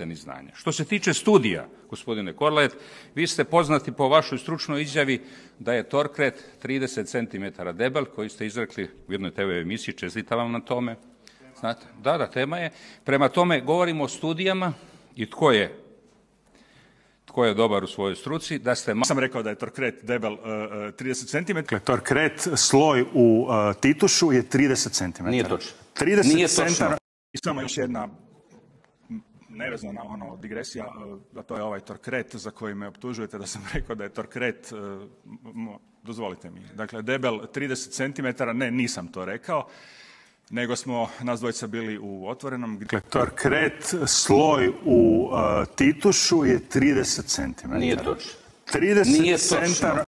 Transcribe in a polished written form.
ni znanja. Što se tiče studija, gospodine Korlaet, vi ste poznati po vašoj stručnoj izjavi da je Torkret 30 cm debel, koji ste izrekli u jednoj TV emisiji, čestitam vam na tome. Znate, da, tema je. Prema tome, govorimo o studijama i tko je dobar u svojoj struci, da ste... Sam rekao da je Torkret debel 30 cm. Torkret sloj u titušu je 30 cm. Nije točno. 30 cm. I samo još jedna nevezana digresija, a to je ovaj Torkret za koji me optužujete da sam rekao da je Torkret, dozvolite mi, dakle debel 30 cm, ne, nisam to rekao, nego smo nas dvojica bili u Otvorenom. Dakle, Torkret sloj u titušu je 30 cm. Nije točno. 30 cm.